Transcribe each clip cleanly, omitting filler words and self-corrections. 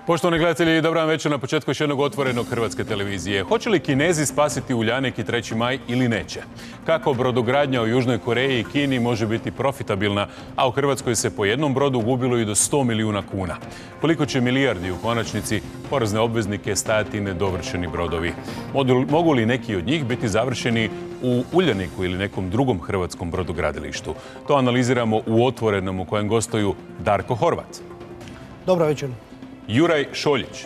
Poštovani gledatelji, dobar vam večer na početku još jednog otvorenog Hrvatske televizije. Hoće li Kinezi spasiti Uljanik i 3. maj ili neće? Kako brodogradnja u Južnoj Koreji i Kini može biti profitabilna, a u Hrvatskoj se po jednom brodu gubilo i do 100 milijuna kuna? Koliko će milijardi u konačnici porezne obveznike stajati nedovršeni brodovi? Mogu li neki od njih biti završeni u Uljaniku ili nekom drugom hrvatskom brodogradilištu? To analiziramo u Otvorenom u kojem gostuju Darko Horvat. Dobro večer. Juraj Šoljić,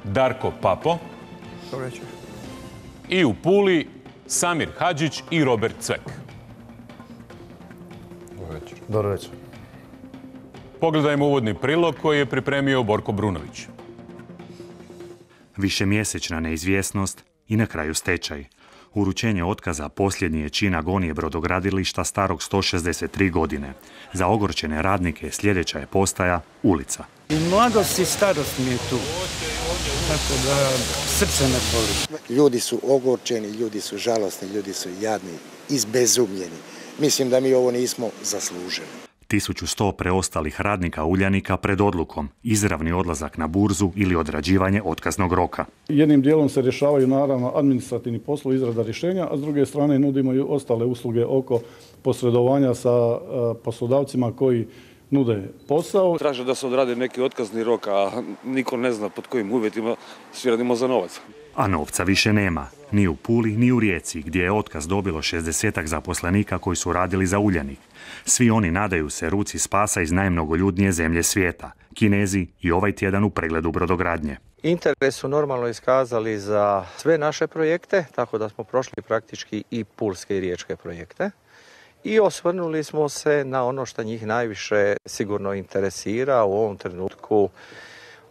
Darko Papo i u Puli Samir Hadžić i Robert Cvek. Dobro večer. Pogledajmo uvodni prilog koji je pripremio Borko Brunović. Višemjesečna neizvjesnost i na kraju stečaj. Uručenje otkaza posljednji je čin agonije brodogradilišta starog 163 godine. Za ogorčene radnike sljedeća je postaja ulica. I mladost i starost mi je tu, tako da srce me boli. Ljudi su ogorčeni, ljudi su žalosni, ljudi su jadni, izbezumljeni. Mislim da mi ovo nismo zaslužili. 1100 preostalih radnika Uljanika pred odlukom, izravni odlazak na burzu ili odrađivanje otkaznog roka. Jednim dijelom se rješavaju naravno administrativni poslovi, izrada rješenja, a s druge strane nudimo i ostale usluge oko posredovanja sa poslodavcima koji nude posao. Traže da se odradi neki otkazni rok, a niko ne zna pod kojim uvjetima, svi radimo za novac. A novca više nema, ni u Puli, ni u Rijeci, gdje je otkaz dobilo 60 zaposlenika koji su radili za Uljanik. Svi oni nadaju se ruci spasa iz najmnogoljudnije zemlje svijeta, Kinezi i ovaj tjedan u pregledu brodogradnje. Interes su normalno iskazali za sve naše projekte, tako da smo prošli praktički i pulske i riječke projekte. I osvrnuli smo se na ono što njih najviše sigurno interesira u ovom trenutku,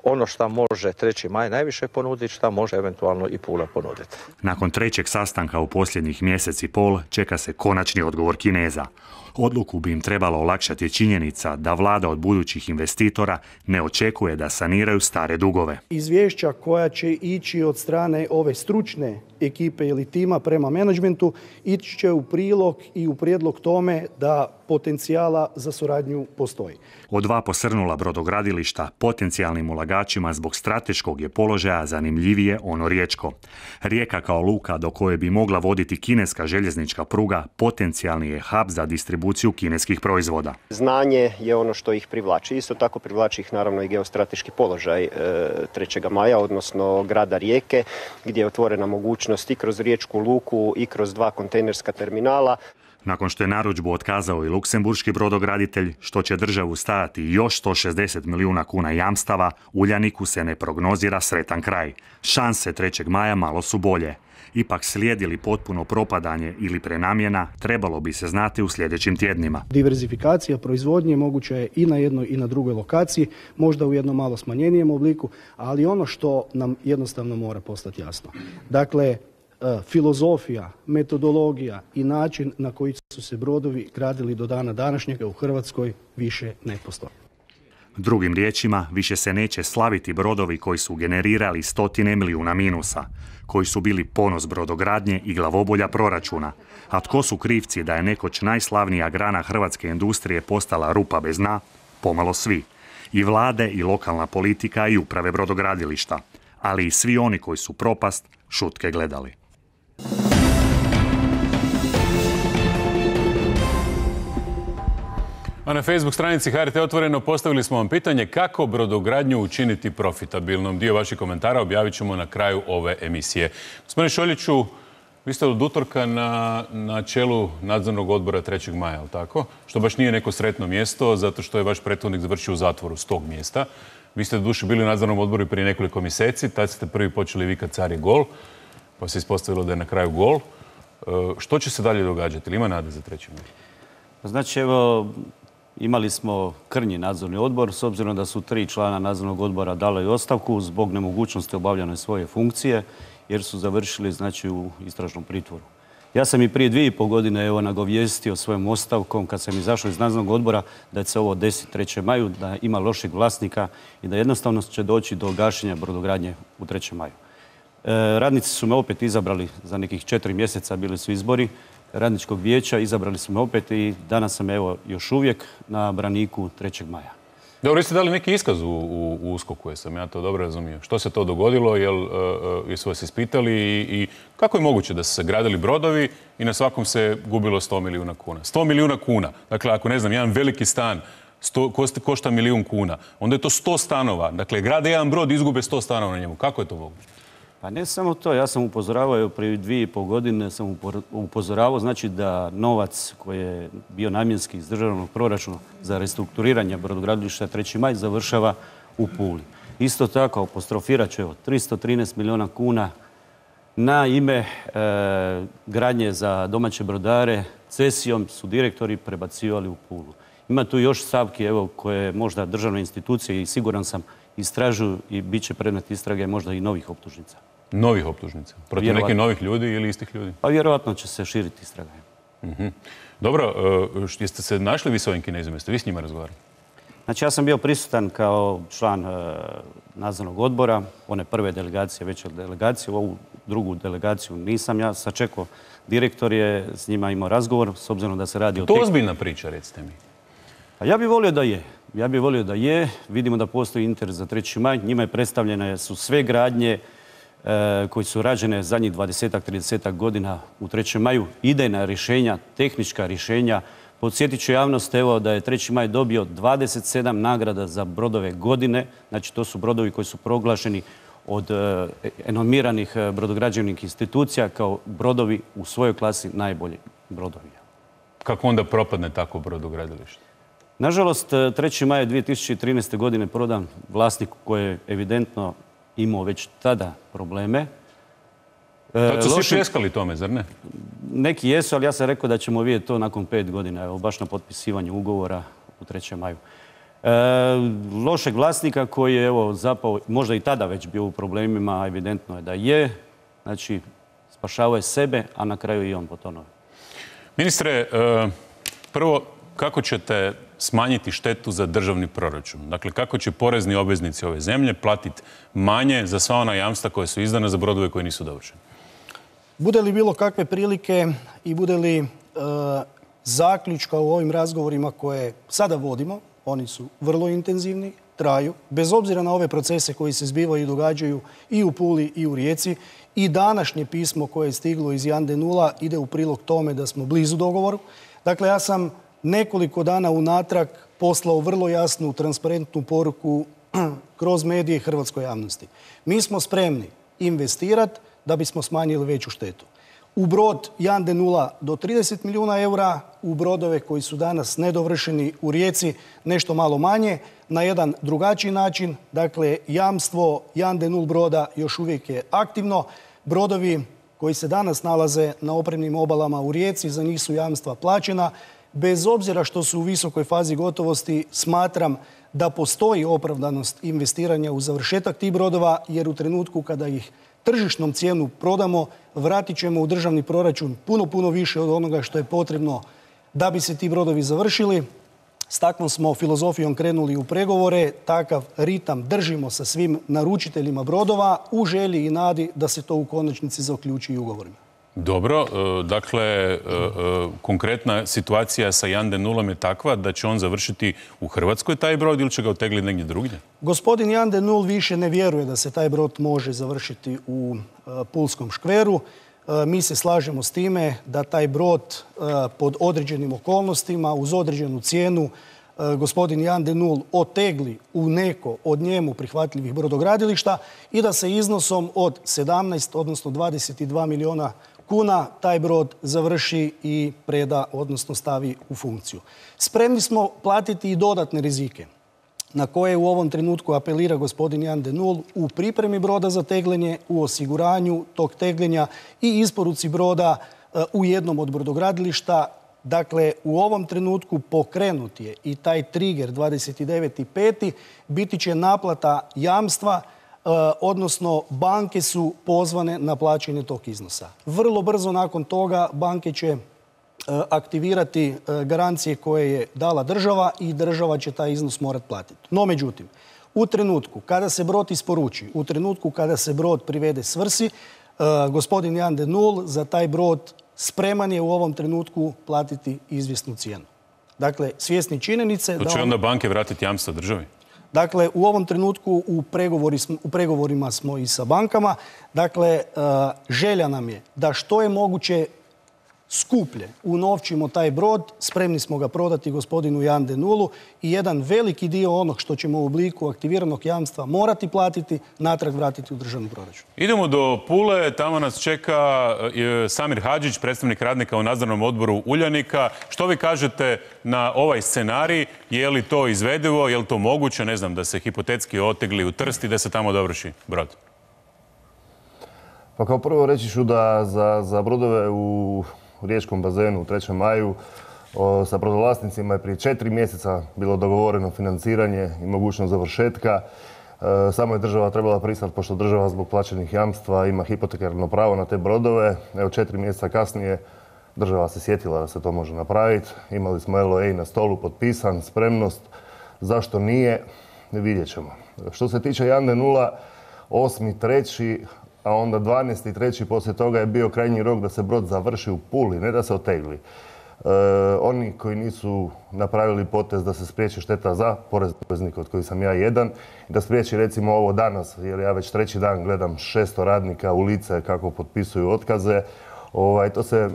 ono što može 3. maj najviše ponuditi, što može eventualno i Pula ponuditi. Nakon trećeg sastanka u posljednjih mjesec i pol čeka se konačni odgovor Kineza. Odluku bi im trebalo olakšati činjenica da vlada od budućih investitora ne očekuje da saniraju stare dugove. Izvješća koja će ići od strane ove stručne ekipe ili tima prema menadžmentu ići će u prilog i u prijedlog tome da potencijala za suradnju postoji. Od 2 posrnula brodogradilišta potencijalnim ulagačima zbog strateškog je položaja zanimljivije ono riječko. Rijeka kao luka do koje bi mogla voditi kineska željeznička pruga potencijalni je hub za distribuciju kineskih proizvoda. Znanje je ono što ih privlači. Isto tako privlači ih naravno i geostrateški položaj 3. maja, odnosno grada Rijeke, gdje je otvorena mogućnost i kroz riječku luku i kroz 2 kontejnerska terminala. Nakon što je narudžbu otkazao i luksemburški brodograditelj, što će državu stajati još 160 milijuna kuna jamstava, Uljaniku se ne prognozira sretan kraj. Šanse 3. maja malo su bolje. Ipak slijedi li potpuno propadanje ili prenamjena, trebalo bi se znati u sljedećim tjednima. Diverzifikacija proizvodnje moguća je i na jednoj i na drugoj lokaciji, možda u jednom malo smanjenijem obliku, ali ono što nam jednostavno mora postati jasno. Dakle, filozofija, metodologija i način na koji su se brodovi gradili do dana današnjega u Hrvatskoj više ne postoji. Drugim riječima, više se neće slaviti brodovi koji su generirali stotine milijuna minusa, koji su bili ponos brodogradnje i glavobolja proračuna. A tko su krivci da je nekoć najslavnija grana hrvatske industrije postala rupa bez dna? Pomalo svi. I vlade, i lokalna politika, i uprave brodogradilišta. Ali i svi oni koji su propast šutke gledali. A na Facebook stranici HRT Otvoreno postavili smo vam pitanje kako brodogradnju učiniti profitabilnom. Dio vaših komentara objavit ćemo na kraju ove emisije. Gospodine Šoljiću, vi ste od utorka na čelu nadzornog odbora 3. maja, ali tako? Što baš nije neko sretno mjesto, zato što je vaš prethodnik završio u zatvoru s tog mjesta. Vi ste doduše bili u nadzornom odboru prije nekoliko mjeseci, tad ste prvi počeli vikati car je gol, pa se ispostavilo da je na kraju gol. Što će se dalje događati? Ili ima nade za 3. maj? Znači, evo, imali smo krnji nadzorni odbor, s obzirom da su 3 člana nadzornog odbora dali ostavku zbog nemogućnosti obavljanja svoje funkcije, jer su završili, znači, u istražnom pritvoru. Ja sam i prije 2,5 godine nagovijestio svojom ostavkom, kad sam izašao iz nadzornog odbora, da će se ovo desiti 3. maju, da ima loših vlasnika i da jednostavno će doći do gašenja brodogradnje u 3. maju. Radnici su me opet izabrali za nekih 4 mjeseca, bili su izbori radničkog vijeća, izabrali su me opet i danas sam evo još uvijek na braniku 3. maja. Dobro, vi ste dali neki iskaz u USKOK-u, jesam ja to dobro razumio. Što se to dogodilo, jesu vas ispitali i kako je moguće da su se gradili brodovi i na svakom se gubilo 100 milijuna kuna? 100 milijuna kuna. Dakle, ako ne znam, jedan veliki stan košta 1.000.000 kuna, onda je to 100 stanova. Dakle, grade jedan brod i izgube 100 stanova na njemu. Kako je to moguće? Pa ne samo to, ja sam upozoravao, prije 2,5 godine sam upozoravao, znači da novac koji je bio namjenski iz državnog proračuna za restrukturiranje brodogradilišta 3. maj završava u Puli. Isto tako, apostrofirat ću, 313 milijuna kuna na ime gradnje za domaće brodare, cesijom su direktori prebacivali u Pulu. Ima tu još stavki koje možda državne institucije i siguran sam istražuju i bit će predmet istrage možda i novih optužnica. Novih optužnica? Protiv nekih novih ljudi ili istih ljudi? Pa vjerojatno će se širiti istraga. Dobro, jeste se našli vi s ovim Kinezima? Jeste vi s njima razgovarali? Znači ja sam bio prisutan kao član nadzornog odbora, one prve delegacije, veće delegacije, ovu drugu delegaciju nisam ja sačekao. Direktor je s njima imao razgovor, s obzirom da se radi o... To je ozbiljna priča, recite mi. Pa ja bih volio da je. Ja bih volio da je. Vidimo da postoji interes za 3. maj. Njima je predstavljene su sve gradnje koji su rađene zadnjih 20-30 godina u 3. maju. Idejna rješenja, tehnička rješenja. Podsjetit ću javnost da je 3. maj dobio 27 nagrada za brodove godine. Znači to su brodovi koji su proglašeni od enomiranih brodograđevnih institucija kao brodovi u svojoj klasi najbolji brodovi. Kako onda propadne tako brodogradilište? Nažalost, 3. maja 2013. godine prodan vlasnik koji je evidentno imao već tada probleme. Tad su svi pljeskali tome, zar ne? Neki jesu, ali ja sam rekao da ćemo vidjeti to nakon 5 godina, evo, baš na potpisivanju ugovora u 3. maju. Lošeg vlasnika koji je zapao, možda i tada već bio u problemima, evidentno je da je. Znači, spašavao je sebe, a na kraju i on potonuo. Ministre, prvo, kako ćete smanjiti štetu za državni proračun? Dakle, kako će porezni obveznici ove zemlje platiti manje za sva ona jamstva koja su izdana za brodove koji nisu dovršeni? Bude li bilo kakve prilike i bude li zaključka u ovim razgovorima koje sada vodimo, oni su vrlo intenzivni, traju, bez obzira na ove procese koji se zbivaju i događaju i u Puli i u Rijeci, i današnje pismo koje je stiglo iz Jan de Nula ide u prilog tome da smo blizu dogovoru. Dakle, ja sam nekoliko dana unatrag poslao vrlo jasnu, transparentnu poruku kroz medije hrvatskoj javnosti. Mi smo spremni investirati da bismo smanjili veću štetu. U brod Jan de Nula do 30 milijuna eura, u brodove koji su danas nedovršeni u Rijeci nešto malo manje, na jedan drugačiji način. Dakle, jamstvo Jan de Nul broda još uvijek je aktivno. Brodovi koji se danas nalaze na opremnim obalama u Rijeci, za njih su jamstva plaćena. Bez obzira što su u visokoj fazi gotovosti, smatram da postoji opravdanost investiranja u završetak tih brodova, jer u trenutku kada ih tržišnom cijenu prodamo, vratit ćemo u državni proračun puno više od onoga što je potrebno da bi se ti brodovi završili. S takvom smo filozofijom krenuli u pregovore, takav ritam držimo sa svim naručiteljima brodova u želji i nadi da se to u konačnici zaključi i ugovorima. Dobro, dakle, konkretna situacija sa Jan de Nulom je takva da će on završiti u Hrvatskoj taj brod ili će ga otegliti negdje drugdje? Gospodin Jan de Nul više ne vjeruje da se taj brod može završiti u Pulskom škveru. Mi se slažemo s time da taj brod pod određenim okolnostima, uz određenu cijenu, gospodin Jan de Nul otegli u neko od njemu prihvatljivih brodogradilišta i da se iznosom od 17, odnosno 22 milijuna kuna taj brod završi i preda, odnosno stavi u funkciju. Spremni smo platiti i dodatne rizike na koje u ovom trenutku apelira gospodin Jan de Nul u pripremi broda za tegljenje, u osiguranju tog tegljenja i isporuci broda u jednom od brodogradilišta. Dakle, u ovom trenutku pokrenut je i taj trigger 29.5. biti će naplata jamstva, odnosno banke su pozvane na plaćanje tog iznosa. Vrlo brzo nakon toga banke će aktivirati garancije koje je dala država i država će taj iznos morati platiti. No, međutim, u trenutku kada se brod isporuči, u trenutku kada se brod privede svrsi, gospodin Jan de Nul za taj brod spreman je u ovom trenutku platiti izvjesnu cijenu. Dakle, svjesni činjenice To će onda banke vratiti jamstvo državi? Dakle, u ovom trenutku u pregovorima smo i sa bankama. Dakle, želja nam je da što je moguće skuplje unovčimo taj brod, spremni smo ga prodati gospodinu Jan de Nulu i jedan veliki dio onog što ćemo u obliku aktiviranog jamstva morati platiti, natrag vratiti u državni proračun. Idemo do Pule, tamo nas čeka Samir Hadžić, predstavnik radnika u nadzornom odboru Uljanika. Što vi kažete na ovaj scenarij? Je li to izvedivo, je li to moguće, ne znam, da se hipotetski otegli u Trst i da se tamo dovrši brod? Pa kao prvo reći ću da za brodove u riječkom bazenu u 3. maju sa brodovlasnicima je prije 4 mjeseca bilo dogovoreno financiranje i mogućnost završetka. Samo je država trebala pristati, pošto država zbog plaćenih jamstva ima hipotekarno pravo na te brodove. Evo 4 mjeseca kasnije država se sjetila da se to može napraviti. Imali smo LOA na stolu, potpisan, spremnost. Zašto nije? Vidjet ćemo. Što se tiče Jan de Nula, 8.3., a onda 12.3. poslije toga je bio krajnji rok da se brod završi u Puli, ne da se otegli. Oni koji nisu napravili potez da se spriječi šteta za porezne obveznike, od kojih sam ja jedan, da spriječi recimo ovo danas, jer ja već 3. dan gledam 600 radnika u lice kako potpisuju otkaze. To se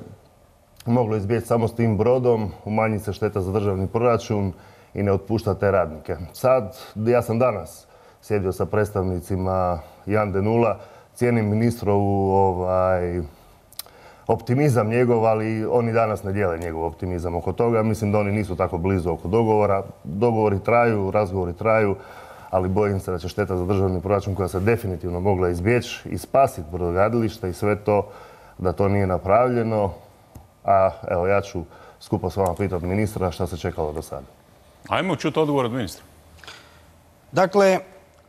moglo izbjeći samo s tim brodom, umanji se šteta za državni proračun i ne otpušta te radnike. Sad, ja sam danas sjedio sa predstavnicima Jan de Nula, cijenim ministrovu optimizam njegov, ali oni danas ne dijele njegov optimizam oko toga. Mislim da oni nisu tako blizu oko dogovora. Dogovori traju, razgovori traju, ali bojim se da će šteta za državni proračun, koja se definitivno mogla izbjeći i spasiti brodogradilište i sve to, da to nije napravljeno. A evo, ja ću skupo s vama pitati ministra šta se čekalo do sada. Ajmo čuti odgovor od ministra. Dakle,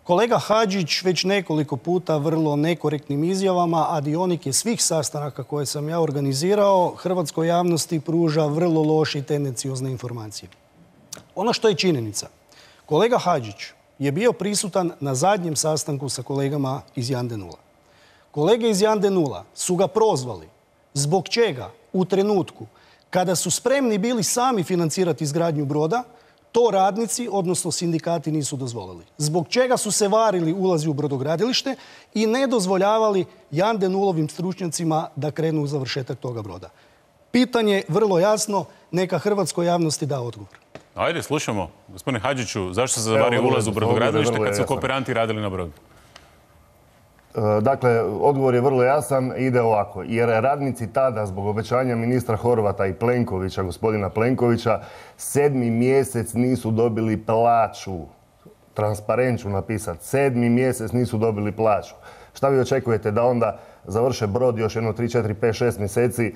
kolega Hadžić već nekoliko puta vrlo nekorektnim izjavama, a dionik je svih sastanaka koje sam ja organizirao, hrvatskoj javnosti pruža vrlo loše i tendenciozne informacije. Ono što je činjenica, kolega Hadžić je bio prisutan na zadnjem sastanku sa kolegama iz Jan de Nula. Kolege iz Jan de Nula su ga prozvali zbog čega u trenutku kada su spremni bili sami financirati izgradnju broda, to radnici, odnosno sindikati, nisu dozvolili. Zbog čega su se varili ulazi u brodogradilište i ne dozvoljavali Jan de Nulovim stručnjacima da krenu u završetak toga broda. Pitanje vrlo jasno, neka hrvatskoj javnosti da odgovor. Ajde, slušamo. Gospodine Hadžiću, zašto se zavario ulaz u brodogradilište kad su kooperanti radili na brodu? Dakle, odgovor je vrlo jasan i ide ovako. Jer radnici tada, zbog obećanja ministra Horvata i Plenkovića, gospodina Plenkovića, 7. mjesec nisu dobili plaću. Transparent ću napisati. 7. mjesec nisu dobili plaću. Šta vi očekujete, da onda završe brod još jedno 3, 4, 5, 6 mjeseci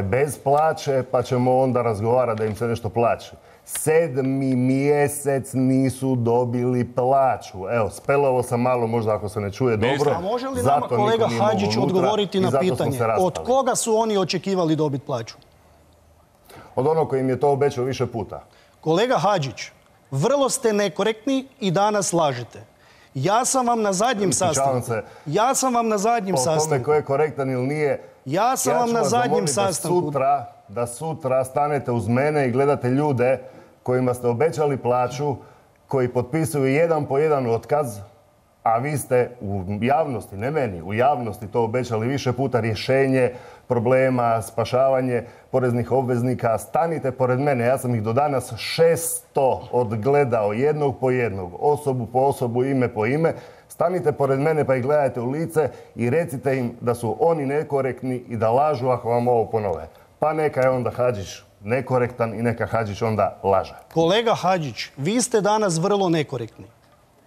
bez plaće, pa ćemo onda razgovarati da im se nešto plaće? 7. mjesec nisu dobili plaću. Evo, spelovo sam malo, možda ako se ne čuje dobro. A može li nama kolega Hadžić odgovoriti na pitanje od koga su oni očekivali dobiti plaću? Od onog koji im je to obećao više puta. Kolega Hadžić, vrlo ste nekorektni i danas lažete. Ja sam vam na zadnjem sastanku. Ja sam vam na zadnjem sastanku. Po tome ko je korektan ili nije, ja sam vam na zadnjem sastanku. Da sutra stanete uz mene i gledate ljude kojima ste obećali plaću, koji potpisuju jedan po jedan otkaz, a vi ste u javnosti, ne meni, u javnosti to obećali više puta, rješenje problema, spašavanje poreznih obveznika. Stanite pored mene, ja sam ih do danas 600 odgledao, jednog po jednog, osobu po osobu, ime po ime. Stanite pored mene pa ih gledajte u lice i recite im da su oni nekorektni i da lažu ako vam ovo ponove. Pa neka je onda Hadžić nekorektan i neka Hadžić onda laže. Kolega Hadžić, vi ste danas vrlo nekorektni.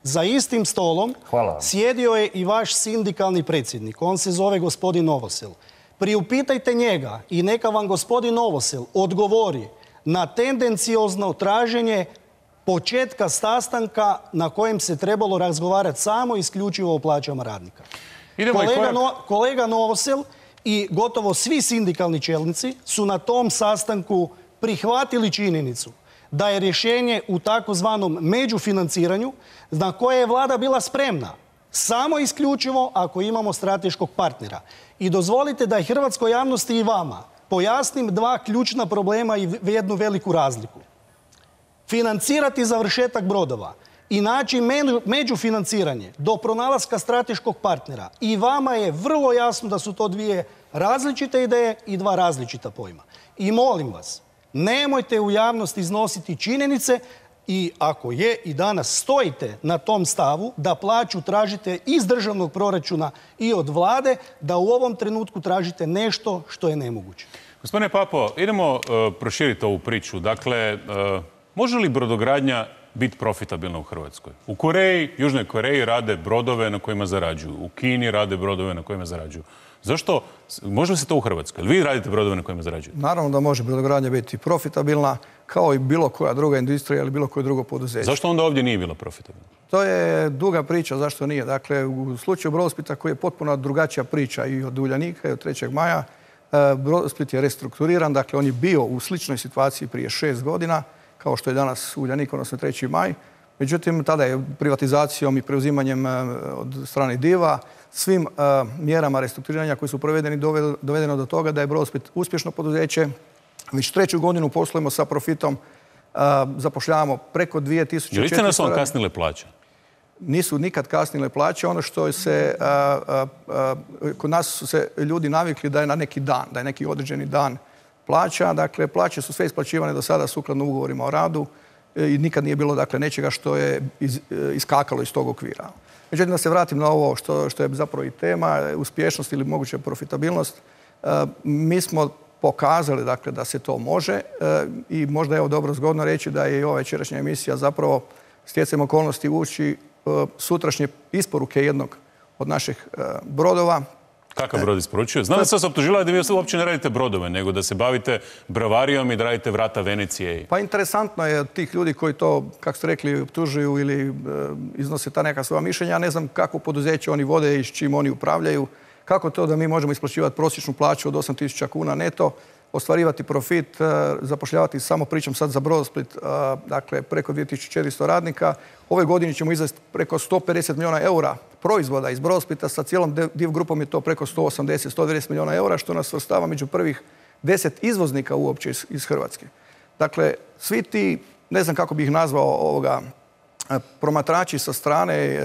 Za istim stolom sjedio je i vaš sindikalni predsjednik. On se zove gospodin Novosel. Priupitajte njega i neka vam gospodin Novosel odgovori na tendenciozno traženje početka sastanka na kojem se trebalo razgovarati samo isključivo o plaćama radnika. Kolega Novosel i gotovo svi sindikalni čelnici su na tom sastanku prihvatili činjenicu da je rješenje u takozvanom međufinanciranju na koje je vlada bila spremna samo isključivo ako imamo strateškog partnera. I dozvolite da i hrvatskoj javnosti i vama pojasnim dva ključna problema i jednu veliku razliku. financirati završetak brodova i naći međufinanciranje do pronalaska strateškog partnera, i vama je vrlo jasno da su to dvije različite ideje i dva različita pojma. I molim vas, nemojte u javnosti iznositi činjenice, i ako je i danas stojite na tom stavu da plaću tražite iz državnog proračuna i od vlade, da u ovom trenutku tražite nešto što je nemoguće. Gospodine Papo, idemo proširiti ovu priču. Dakle, može li brodogradnja biti profitabilna u Hrvatskoj? U Koreji, Južnoj Koreji rade brodove na kojima zarađuju. U Kini rade brodove na kojima zarađuju. Zašto? Može li se to u Hrvatskoj? Vi radite brodove na kojima zarađujete? Naravno da može brodogradnja biti profitabilna, kao i bilo koja druga industrija ili bilo koje drugo poduzeće. Zašto onda ovdje nije bila profitabilna? To je duga priča, zašto nije. Dakle, u slučaju Brodosplita, koji je potpuno drugačija priča i od Uljanika i od 3. maja, Brodosplit je restrukturiran, dakle on je bio u sličnoj situaciji prije 6 godina, kao što je danas Uljanik, odnosno 3. maj. Međutim, tada je privatizacijom i preuzimanjem od strane Diva, svim mjerama restrukturiranja koji su provedeni dovedeno do toga da je Brodosplit uspješno poduzeće. Već 3. godinu poslujemo sa profitom, zapošljavamo preko 2400... Je li ste nas vam kasnile plaće? Nisu nikad kasnile plaće. Ono što se... Kod nas su se ljudi navikli da je na neki dan, da je neki određeni dan plaća. Dakle, plaće su sve isplaćivane do sada sukladno ugovorima o radu i nikad nije bilo, dakle, nečega što je iskakalo iz tog okvira. Međutim, da se vratim na ovo što je zapravo i tema, uspješnost ili moguća profitabilnost. Mi smo pokazali, dakle, da se to može i možda je ovo dobro zgodno reći da je i ova večerašnja emisija zapravo stjecajem okolnosti ući sutrašnje isporuke jednog od naših brodova. Kakav brod isporučuje? Znam da sam se optužila da vi uopće ne radite brodove, nego da se bavite bravarijom i da radite vrata Venecije. Pa interesantno je od tih ljudi koji to, kako ste rekli, optužuju ili iznose ta neka svoja mišljenja. Ja ne znam kako poduzeće oni vode i s čim oni upravljaju. Kako to da mi možemo isplaćivati prosječnu plaću od 8.000 kuna neto, ostvarivati profit, zapošljavati, samo pričam sad za Brodosplit, dakle preko 2400 radnika. Ove godine ćemo izvesti preko 150 milijuna eura proizvoda iz Brodosplita, sa cijelom Div grupom je to preko 180-190 milijuna eura, što nas svrstava među prvih 10 izvoznika uopće iz Hrvatske. Dakle, svi ti, ne znam kako bih ih nazvao, promatrači sa strane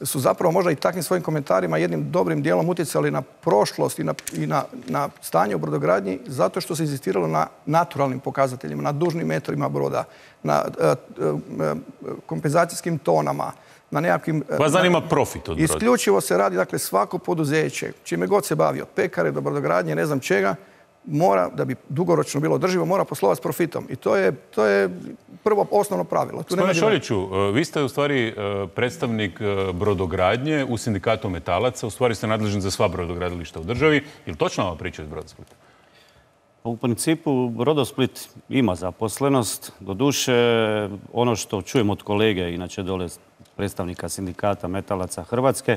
su zapravo možda i takvim svojim komentarima jednim dobrim dijelom utjecali na prošlost i na stanje u brodogradnji, zato što se inzistiralo na naturalnim pokazateljima, na dužnim metrima broda, na kompenzacijskim tonama, na nekakvim... Vas zanima profit od broda? Isključivo se radi, dakle, svako poduzeće, čime god se bavi, od pekare do brodogradnje, ne znam čega, mora, da bi dugoročno bilo održivo, mora poslovati s profitom. I to je prvo osnovno pravilo. Gospodine Šoljiću, vi ste u stvari predstavnik brodogradnje u sindikatu metalaca, u stvari ste nadležni za sva brodogradilišta u državi. Je li točna ova priča iz Brodosplita? U principu Brodosplit ima zaposlenost. Doduše, ono što čujem od kolege, inače dole predstavnika sindikata metalaca Hrvatske,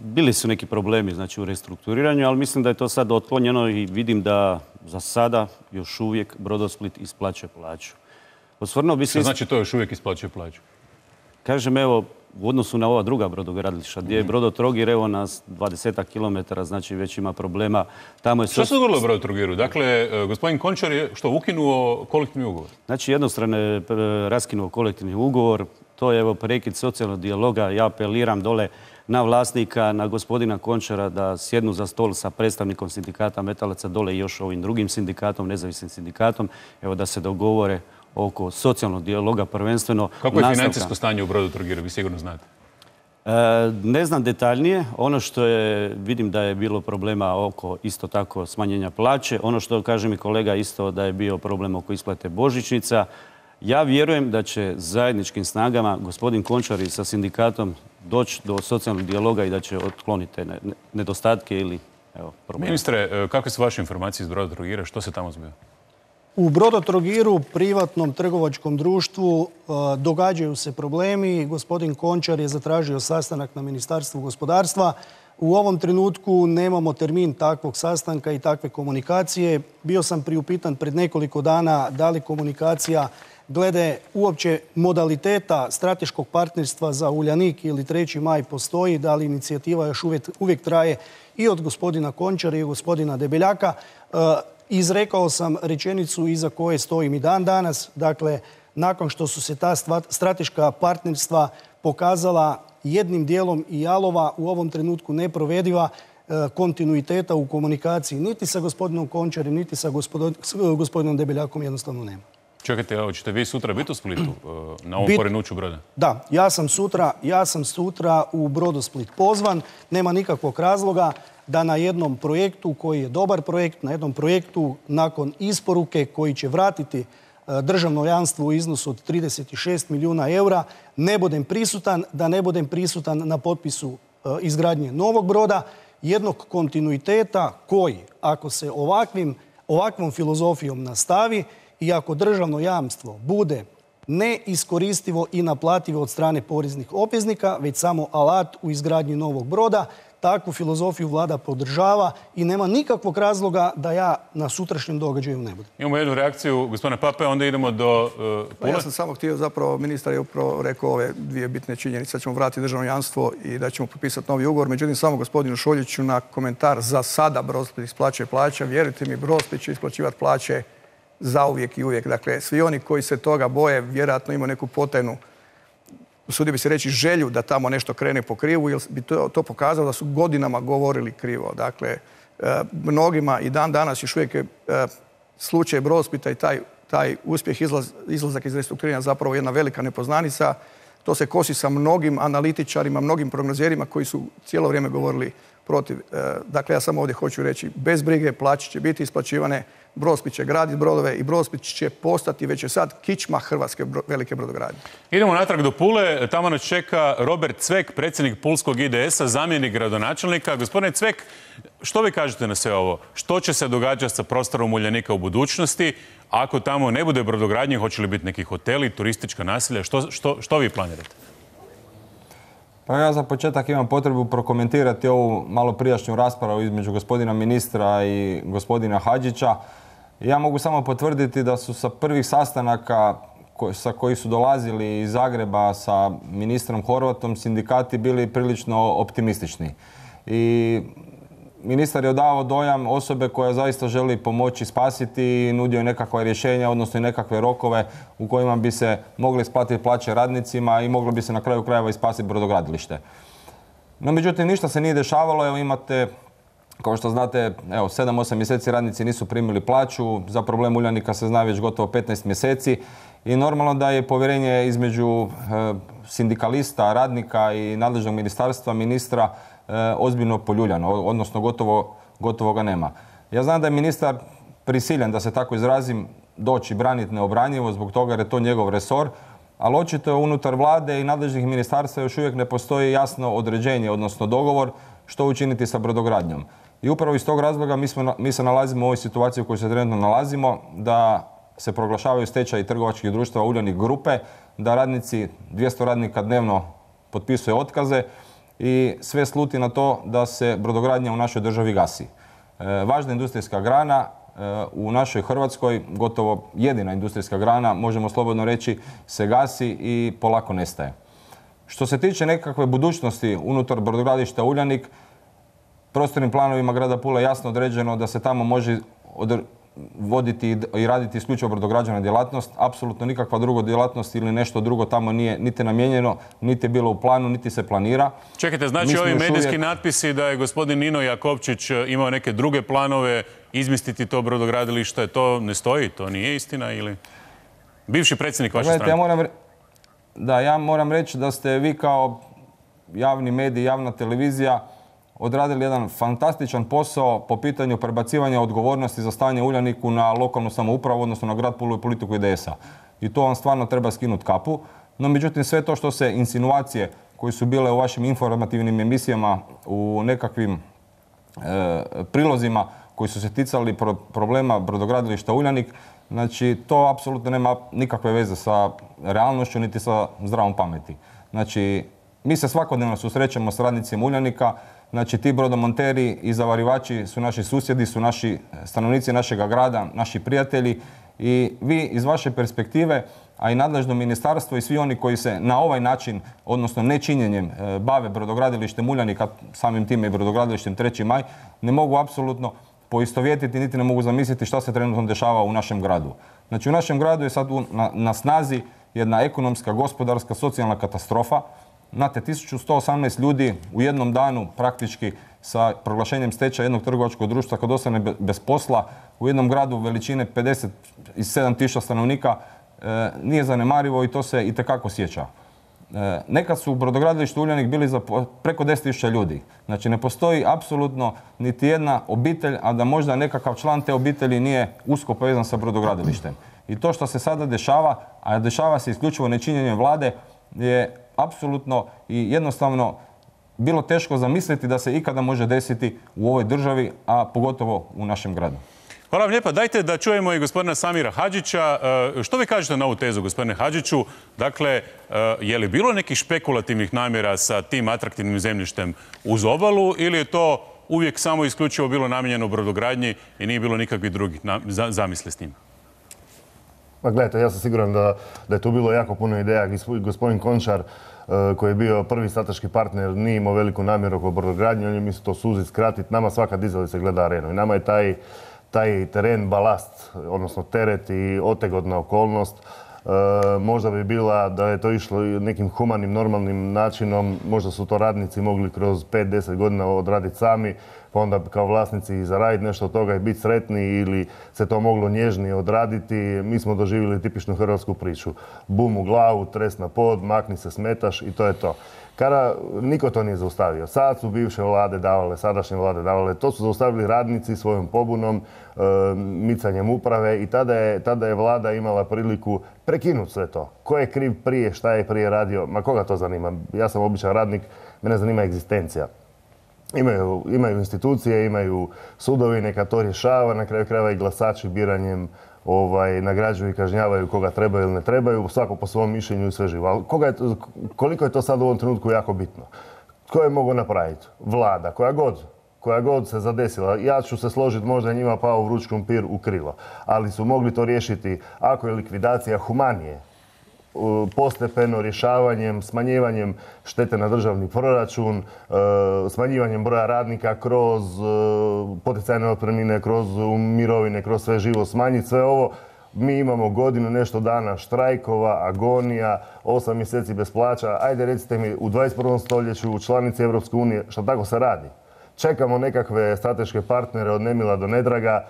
bili su neki problemi, znači, u restrukturiranju, ali mislim da je to sad otklonjeno i vidim da za sada još uvijek Brodosplit isplaćuje plaću. Osvrnuo bi se... Što znači to još uvijek isplaćuje plaću? Kažem, evo, u odnosu na ova druga brodogradilišta, gdje je Brodotrogir, evo, na 20 kilometara, znači već ima problema. Tamo je... Što se dogodilo u Brodotrogiru? Dakle, gospodin Končar je ukinuo kolektivni ugovor? Znači, jednostrano je raskinuo kolektivni ugovor. To je, evo, prekid socijalnog dijaloga. Ja apeliram dole na vlasnika, na gospodina Končara da sjednu za stol sa predstavnikom sindikata metalaca dole i još ovim drugim sindikatom, nezavisnim sindikatom, evo, da se dogovore oko socijalnog dijaloga prvenstveno. Kako je financijsko stanje u Brodotrogiru? Vi sigurno znate. Ne znam detaljnije. Ono što je, vidim da je bilo problema oko isto tako smanjenja plaće. Ono što kaže mi kolega isto da je bio problem oko isplate božićnica. Ja vjerujem da će zajedničkim snagama gospodin Končar i sa sindikatom doći do socijalnog dijaloga i da će otkloniti te nedostatke ili probleme. Ministre, kakve su vaše informacije iz Brodotrogira? Što se tamo zbiva? U Brodotrogiru, privatnom trgovačkom društvu, događaju se problemi. Gospodin Končar je zatražio sastanak na Ministarstvu gospodarstva. U ovom trenutku nemamo termin takvog sastanka i takve komunikacije. Bio sam priupitan pred nekoliko dana da li komunikacija glede uopće modaliteta strateškog partnerstva za Uljanik ili 3. maj postoji, da li inicijativa još uvijek traje i od gospodina Končara i od gospodina Debeljaka. Izrekao sam rečenicu iza koje stojim i dan danas. Dakle, nakon što su se ta strateška partnerstva pokazala jednim dijelom i jalova, u ovom trenutku neprovediva, kontinuiteta u komunikaciji niti sa gospodinom Končarim, niti sa gospodinom Debeljakom jednostavno nema. Čekajte, hoćete vi sutra biti u Splitu na ovom porinuću broda? Da, ja sam sutra u Brodosplit pozvan. Nema nikakvog razloga da na jednom projektu koji je dobar projekt, na jednom projektu nakon isporuke koji će vratiti državno jamstvo u iznosu od 36 milijuna eura, ne budem prisutan, da ne budem prisutan na potpisu izgradnje novog broda, jednog kontinuiteta koji, ako se ovakvom filozofijom nastavi i ako državno jamstvo bude neiskoristivo i naplativo od strane poreznih obveznika, već samo alat u izgradnji novog broda, takvu filozofiju vlada podržava i nema nikakvog razloga da ja na sutrašnjem događaju ne budem. Imamo jednu reakciju gospodina Pape, onda idemo do Pule. Ja sam samo htio, zapravo ministar je upravo rekao ove dvije bitne činjenice, da ćemo vratiti državno jamstvo i da ćemo potpisati novi ugovor. Međutim, samo gospodinu Šoljiću na komentar: za sada Brodosplit isplaćuje plaće. Vjerujte mi, Brodosplit će isplaćivati plaće zauvijek i uvijek. Dakle, svi oni koji se toga boje vjerojatno imaju neku potajnu, usudio bi se reći, želju da tamo nešto krene po krivu, jer bi to pokazalo da su godinama govorili krivo. Dakle, mnogima i dan danas još uvijek je slučaj Brodosplita i taj uspjeh, izlazak iz restrukturiranja zapravo jedna velika nepoznanica. To se kosi sa mnogim analitičarima, mnogim prognozerima koji su cijelo vrijeme govorili protiv. Dakle, ja samo ovdje hoću reći, bez brige, plaće će biti isplaćivane, Brodosplit će graditi brodove i Brodosplit će postati, već je sad, kičma hrvatske velike brodogradnje. Idemo natrag do Pule. Tamo nas čeka Robert Cvek, predsjednik pulskog IDS-a, zamjenik gradonačelnika. Gospodine Cvek, što vi kažete na sve ovo? Što će se događati sa prostorom Uljanika u budućnosti? Ako tamo ne bude brodogradnje, hoće li biti neki hoteli, turistička naselja? Što vi planirate? Pa ja za početak imam potrebu prokomentirati ovu malo prijašnju raspravu između gospodina ministra i gospodina Hadžića. Ja mogu samo potvrditi da su sa prvih sastanaka sa koji su dolazili iz Zagreba sa ministrom Horvatom sindikati bili prilično optimistični. I ministar je odavao dojam osobe koja zaista želi pomoći spasiti i nudio je nekakva rješenja, odnosno i nekakve rokove u kojima bi se mogli isplatiti plaće radnicima i moglo bi se na kraju krajeva i spasiti brodogradilište. No, međutim, ništa se nije dešavalo. Evo imate, kao što znate, 7-8 mjeseci radnici nisu primili plaću. Za problem Uljanika se zna već gotovo 15 mjeseci. I normalno da je povjerenje između sindikalista, radnika i nadležnog ministarstva, ministra, ozbiljno poljuljano, odnosno gotovo ga nema. Ja znam da je ministar prisiljen, da se tako izrazim, doći braniti neobranjivo zbog toga jer je to njegov resor, ali očito je unutar vlade i nadležnih ministarstva još uvijek ne postoji jasno određenje, odnosno dogovor što učiniti sa brodogradnjom. I upravo iz tog razloga mi se nalazimo u ovoj situaciji u kojoj se trenutno nalazimo, da se proglašavaju stečaji trgovačkih društava Uljanik grupe, da radnici, 200 radnika dnevno potpisuje otkaze i sve sluti na to da se brodogradnja u našoj državi gasi. Važna industrijska grana u našoj Hrvatskoj, gotovo jedina industrijska grana, možemo slobodno reći, se gasi i polako nestaje. Što se tiče nekakve budućnosti unutar brodogradilišta Uljanik, prostornim planovima grada Pule jasno određeno da se tamo može voditi i raditi isključivo brodograđevna djelatnost. Apsolutno nikakva druga djelatnost ili nešto drugo tamo nije niti namijenjeno, niti je bilo u planu, niti se planira. Čekajte, znači ovi medijski natpisi da je gospodin Nino Jakovčić imao neke druge planove izmisliti to brodogradilište, to ne stoji, to nije istina ili? Bivši predsjednik vaše stranke. Ja moram reći da ste vi kao javni medij, javna televizija odradili jedan fantastičan posao po pitanju prebacivanja odgovornosti za stanje u Uljaniku na lokalnu samoupravu, odnosno na grad Pulu i politiku IDS-a. I to vam stvarno treba skinuti kapu. No, međutim, sve to što se insinuacije koje su bile u vašim informativnim emisijama, u nekakvim prilozima koji su se ticali problema brodogradilišta Uljanik, znači to apsolutno nema nikakve veze sa realnošću niti sa zdravom pameti. Znači, mi se svakodnevno susrećemo s radnicima Uljanika. Znači, ti brodomonteri i zavarivači su naši susjedi, su naši stanovnici našega grada, naši prijatelji i vi iz vaše perspektive, a i nadležno ministarstvo i svi oni koji se na ovaj način, odnosno nečinjenjem, bave brodogradilištem Uljanika, samim time i brodogradilištem 3. maj, ne mogu apsolutno poistovjetiti, niti ne mogu zamisliti šta se trenutno dešava u našem gradu. Znači u našem gradu je sad na snazi jedna ekonomska, gospodarska, socijalna katastrofa. Znate, 1118 ljudi u jednom danu praktički sa proglašenjem stečaja jednog trgovačkog društva kad ostane bez posla u jednom gradu veličine 57.000 stanovnika nije zanemarivo i to se itekako sjeća. Nekad su u brodogradilištu Uljanik bili za preko 10.000 ljudi. Znači ne postoji apsolutno niti jedna obitelj, a da možda nekakav član te obitelji nije usko povezan sa brodogradilištem. I to što se sada dešava, a dešava se isključivo nečinjenjem vlade, je apsolutno i jednostavno bilo teško zamisliti da se ikada može desiti u ovoj državi, a pogotovo u našem gradu. Hvala vam lijepa. Dajte da čujemo i gospodina Samira Hadžića. Što vi kažete na ovu tezu, gospodine Hadžiću? Dakle, je li bilo nekih špekulativnih namjera sa tim atraktivnim zemljištem uz obalu ili je to uvijek samo isključivo bilo namijenjeno u brodogradnji i nije bilo nikakvih drugih zamisli s njima? Pa gledajte, ja sam siguran da je tu bilo jako puno ideja. Gospodin Končar, koji je bio prvi strateški partner, nije imao veliku namjeru oko brodogradnje, on je mislio to suziti, skratiti. Nama svaka dizalica gleda arenu i nama je taj teren balast, odnosno teret i otegodna okolnost. Možda bi bila da je to išlo nekim humanim, normalnim načinom, možda su to radnici mogli kroz 5-10 godina odraditi sami, pa onda kao vlasnici zaraditi nešto od toga i biti sretni ili se to moglo nježnije odraditi. Mi smo doživjeli tipičnu hrvatsku priču. Bum u glavu, tres na pod, makni se, smetaš i to je to. Kada niko to nije zaustavio. Sad su bivše vlade davale, sadašnje vlade davale. To su zaustavili radnici svojom pobunom, micanjem uprave i tada je vlada imala priliku prekinuti sve to. Ko je kriv prije, šta je prije radio, ma koga to zanima? Ja sam običan radnik, mene zanima egzistencija. Imaju institucije, imaju sudovi, neka to rješava, na kraju krajeva i glasači biranjem nagrađuju i kažnjavaju koga trebaju ili ne trebaju, svako po svom mišljenju i sve živo. Ali koliko je to sad u ovom trenutku jako bitno? Tko je mogao napraviti? Vlada, koja god se zadesila. Ja ću se složiti, možda je njima pao vruć krumpir u krilo. Ali su mogli to riješiti ako je likvidacija humanije, postepeno rješavanjem, smanjivanjem štete na državni proračun, smanjivanjem broja radnika kroz poticajne otpremnine, kroz mirovine, kroz sve živo, smanjiti sve ovo. Mi imamo godinu, nešto dana štrajkova, agonija, 8 mjeseci bez plaća. Ajde recite mi, u 21. stoljeću u članici Europske unije, što tako se radi? Čekamo nekakve strateške partnere od nemila do nedraga.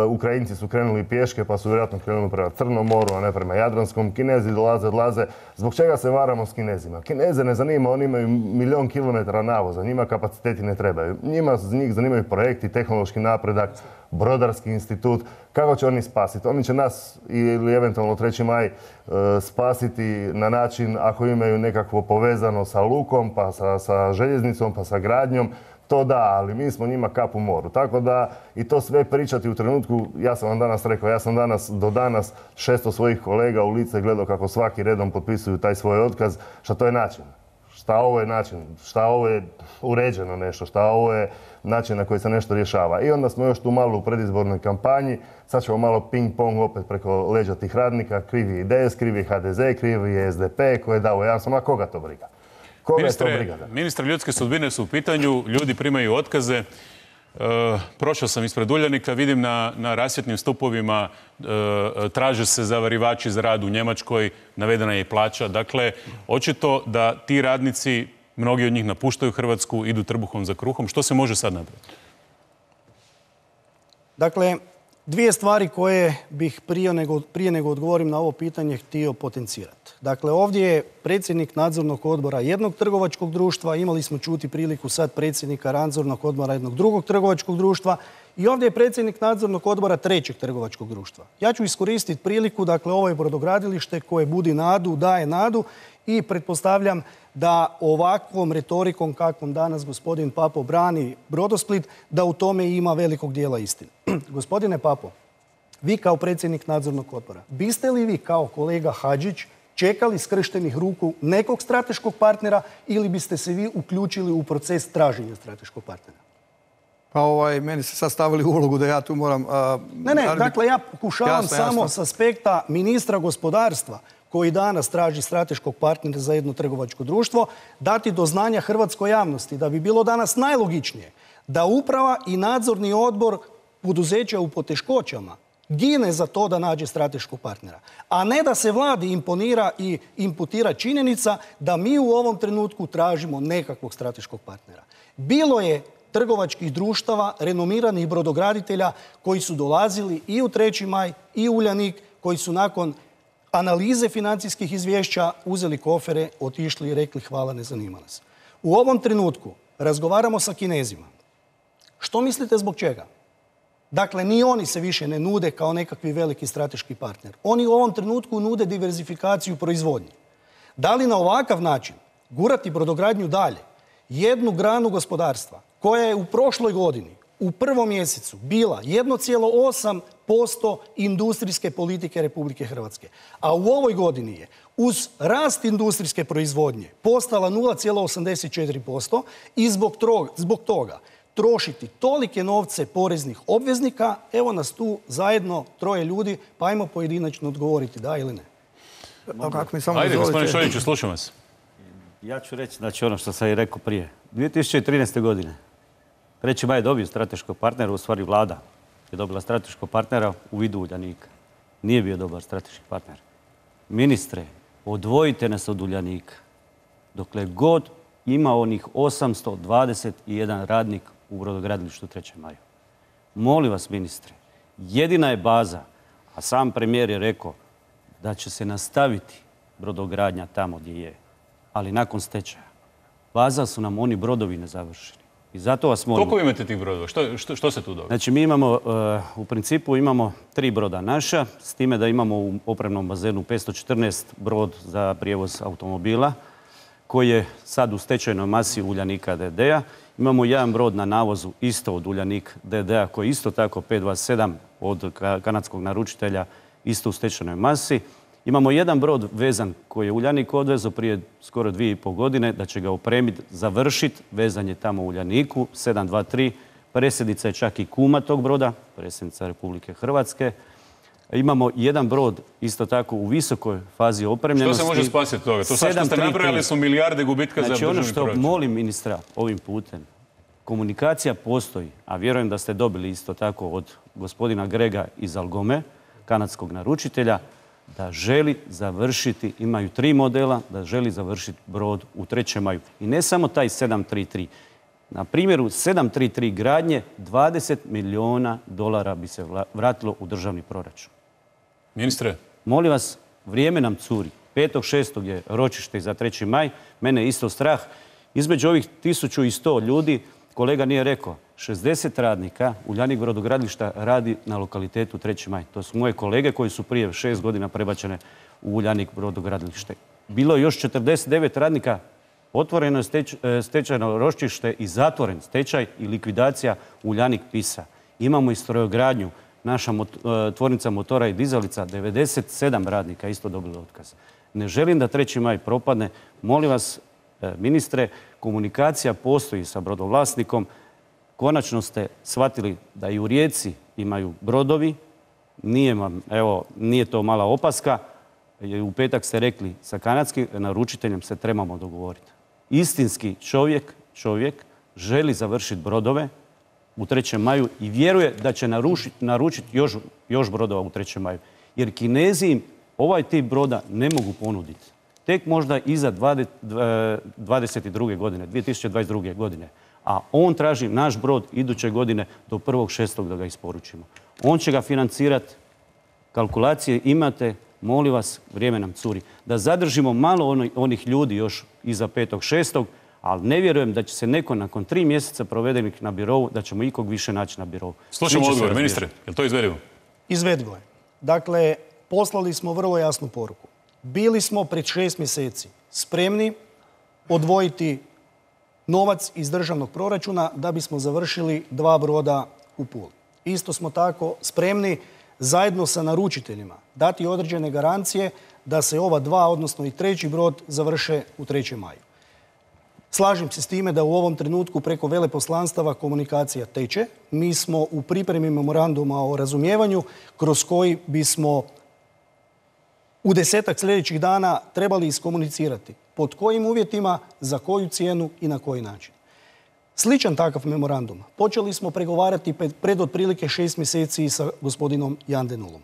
Ukrajinci su krenuli pješke pa su vjerojatno krenuli prema Crnom moru, a ne prema Jadranskom. Kinezi odlaze. Zbog čega se varamo s Kinezima? Kineze ne zanima, oni imaju 1.000.000 kilometara navoza, njima kapaciteti ne trebaju. Njih zanimaju projekti, tehnološki napredak, brodarski institut. Kako će oni spasiti? Oni će nas ili eventualno 3. maj spasiti na način ako imaju nekakvo povezano sa lukom, pa sa željeznicom, pa sa gradnjom. To da, ali mi smo njima kap u moru. Tako da i to sve pričati u trenutku, ja sam vam danas rekao, ja sam do danas 600 svojih kolega u lice gledao kako svaki redom potpisuju taj svoj otkaz. Šta to je način? Šta ovo je način? Šta ovo je uređeno nešto? Šta ovo je način na koji se nešto rješava? I onda smo još tu malo u predizbornoj kampanji. Sad ćemo malo ping-pong opet preko leđa tih radnika. Krivi je IDS, krivi je HDZ, krivi je SDP koji je dao jamstvo. Ma koga to briga? Ministre, ljudske sudbine su u pitanju, ljudi primaju otkaze. Prošao sam ispred Uljanika, vidim na rasvjetnim stupovima traže se zavarivači za rad u Njemačkoj, navedena je i plaća. Dakle, očito da ti radnici, mnogi od njih napuštaju Hrvatsku, idu trbuhom za kruhom. Što se može sad napraviti? Dakle, dvije stvari koje bih prije nego odgovorim na ovo pitanje htio potencirati. Dakle, ovdje je predsjednik nadzornog odbora jednog trgovačkog društva, imali smo čuti priliku sad predsjednika nadzornog odbora jednog drugog trgovačkog društva i ovdje je predsjednik nadzornog odbora trećeg trgovačkog društva. Ja ću iskoristiti priliku, dakle, ovo je brodogradilište koje budi nadu, daje nadu i pretpostavljam da ovakvom retorikom kakvom danas gospodin Papo brani Brodosplit, da u tome ima velikog dijela istine. Gospodine Papo, vi kao predsjednik nadzornog odbora, biste li vi kao kolega Hadžić čekali skrštenih ruku nekog strateškog partnera ili biste se vi uključili u proces traženja strateškog partnera? Pa meni se sad stavili u ulogu da ja tu moram... Dakle, ja pokušavam samo s aspekta ministra gospodarstva koji danas traži strateškog partnera za jedno trgovačko društvo, dati do znanja hrvatskoj javnosti da bi bilo danas najlogičnije da uprava i nadzorni odbor poduzeća u poteškoćama gine za to da nađe strateškog partnera. A ne da se vladi imponira i imputira činjenica da mi u ovom trenutku tražimo nekakvog strateškog partnera. Bilo je trgovačkih društava, renomiranih brodograditelja koji su dolazili i u 3. maj i u Uljanik, koji su nakon analize financijskih izvješća uzeli kofere, otišli i rekli hvala, ne zanima nas. U ovom trenutku razgovaramo sa Kinezima. Što mislite zbog čega? Dakle, ni oni se više ne nude kao nekakvi veliki strateški partner. Oni u ovom trenutku nude diverzifikaciju proizvodnje. Da li na ovakav način gurati brodogradnju dalje, jednu granu gospodarstva koja je u prošloj godini, u 1. mjesecu, bila 1,8% industrijske politike Republike Hrvatske, a u ovoj godini je uz rast industrijske proizvodnje postala 0,84% i zbog toga trošiti tolike novce poreznih obveznika, evo nas tu zajedno 3 ljudi, pa ajmo pojedinačno odgovoriti, da ili ne. Ajde, gospodine Šoljiću, slušam vas. Ja ću reći, znači ono što sam i rekao prije. 2013. godine 3. maj je dobio strateškog partnera, u stvari vlada je dobila strateškog partnera u vidu Uljanika. Nije bio dobar strateški partner. Ministre, odvojite nas od Uljanika. Dokle god ima onih 821 radnik u brodogradilištu 3. maju. Molim vas, ministre, jedina je baza, a sam premijer je rekao da će se nastaviti brodogradnja tamo gdje je, ali nakon stečaja. Baza su nam oni brodovi nezavršeni. I zato vas molim... Koliko imate tih brodova? Što se tu događa? Znači, mi imamo, u principu imamo 3 broda naša, s time da imamo u opremnom bazenu 514 brod za prijevoz automobila, koji je sad u stečajnoj masi Uljanika DD-a. Imamo jedan brod na navozu isto od Uljanik DD-a, koji je isto tako 527 od kanadskog naručitelja, isto u stečajnoj masi. Imamo jedan brod vezan koji je Uljanik odvezao prije skoro 2,5 godine, da će ga opremiti, završiti, vezan je tamo u Uljaniku, 723. Predsjednica je čak i kuma tog broda, predsjednica Republike Hrvatske. Imamo jedan brod isto tako u visokoj fazi opremljenosti. Što se može spasiti toga? To sad što ste nabrojali su milijarde gubitka za državni proračun. Znači ono što molim ministra ovim putem, komunikacija postoji, a vjerujem da ste dobili isto tako od gospodina Grega iz Algome, kanadskog naručitelja, da želi završiti, imaju 3 modela, da želi završiti brod u 3. maju. I ne samo taj 733. Na primjeru 733 gradnje, $20 milijuna bi se vratilo u državni proračun. Ministre? Molim vas, vrijeme nam curi. 5.6. je ročište za 3. maj. Mene je isto strah. Između ovih 1100 ljudi, kolega nije rekao, 60 radnika Uljanik brodogradilišta radi na lokalitetu 3. maj. To su moje kolege koji su prije 6 godina prebačene u Uljanik brodogradilište. Bilo je još 49 radnika, otvoreno je stečajno ročište i zatvoren stečaj i likvidacija Uljanik PISA. Imamo i strojogradnju, naša tvornica motora i dizalica, 97 radnika isto dobilo otkaz. Ne želim da 3. maj propadne. Molim vas, ministre, komunikacija postoji sa brodovlasnikom. Konačno ste shvatili da i u Rijeci imaju brodovi. Nije to mala opaska. U petak ste rekli sa kanadskim naručiteljem se trebamo dogovoriti. Istinski čovjek želi završiti brodove u 3. maju i vjeruje da će naručiti još brodova u 3. maju. Jer Kinezi im ovaj tip broda ne mogu ponuditi. Tek možda iza 2022. godine. A on traži naš brod iduće godine do 1.6. da ga isporučimo. On će ga financirati. Kalkulacije imate, molim vas, vrijeme nam curi. Da zadržimo malo onih ljudi još iza 5.6. ali ne vjerujem da će se neko nakon 3 mjeseca provedenih na birovu, da ćemo ikog više naći na birovu. Slušamo odgovor, ministre. Je li to izvedivo? Izvedivo je. Dakle, poslali smo vrlo jasnu poruku. Bili smo pred 6 mjeseci spremni odvojiti novac iz državnog proračuna da bismo završili 2 broda u Puli. Isto smo tako spremni zajedno sa naručiteljima dati određene garancije da se ova 2, odnosno i 3. brod završe u 3. maju. Slažem se s time da u ovom trenutku preko veleposlanstava komunikacija teče. Mi smo u pripremi memoranduma o razumijevanju kroz koji bismo u 10-ak sljedećih dana trebali iskomunicirati pod kojim uvjetima, za koju cijenu i na koji način. sličan takav memorandum počeli smo pregovarati pred otprilike 6 mjeseci sa gospodinom Jan de Nulom.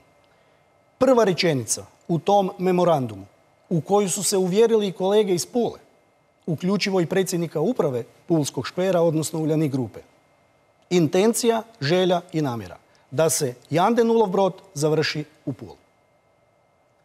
Prva rečenica u tom memorandumu u koju su se uvjerili i kolege iz Pule, uključivo i predsjednika uprave Pulskog škvera, odnosno Uljanik grupe. Intencija, želja i namjera da se Jan de Nulov brod završi u Puli.